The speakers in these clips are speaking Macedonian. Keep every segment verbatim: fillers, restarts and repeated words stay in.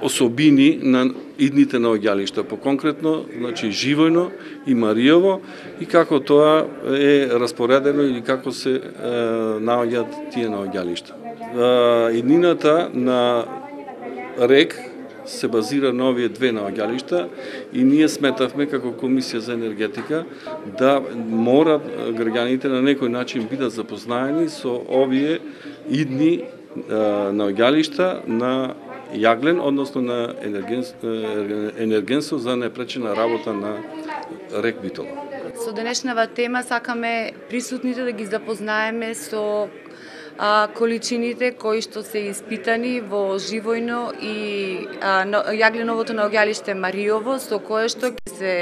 особини на идните наоѓалишта, поконкретно, значи Живојно и Маријово, и како тоа е распоредено или како се е, наоѓаат тие наоѓалишта. Е, иднината на РЕК се базира на овие две наоѓалишта и ние сметавме како Комисија за енергетика да морат граѓаните на некој начин бидат запознаени со овие идни наоѓалишта на јаглен, односно на енергенство за непречена работа на РЕК Битола. Со денешнава тема сакаме присутните да ги запознаеме со а, количините кои што се испитани во Живојно и а, јагленовото наоѓалиште Маријово, со кое што ќе се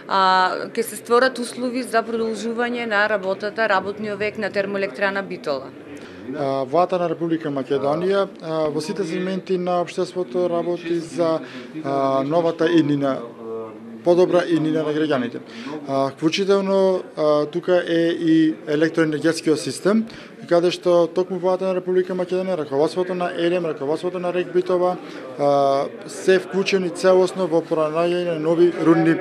а, ќе се створат услови за продолжување на работата, работниот век на термоелектрана Битола. Владата на Република Македонија во сите сегменти на општеството работи за новата иднина, подобра иднина на граѓаните. Вклучително тука е и електроенергетскиот систем, каде што токму Владата на Република Македонија, раководството на ЕРЕМ, раководството на РЕК Битола се вклучени целосно во пронаѓање на нови рудни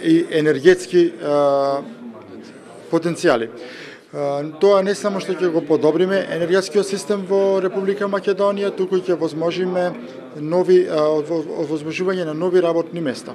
и енергетски потенцијали. Тоа не само што ќе го подобриме енергетскиот систем во Република Македонија, туку ќе возможиме нови овозможување на нови работни места.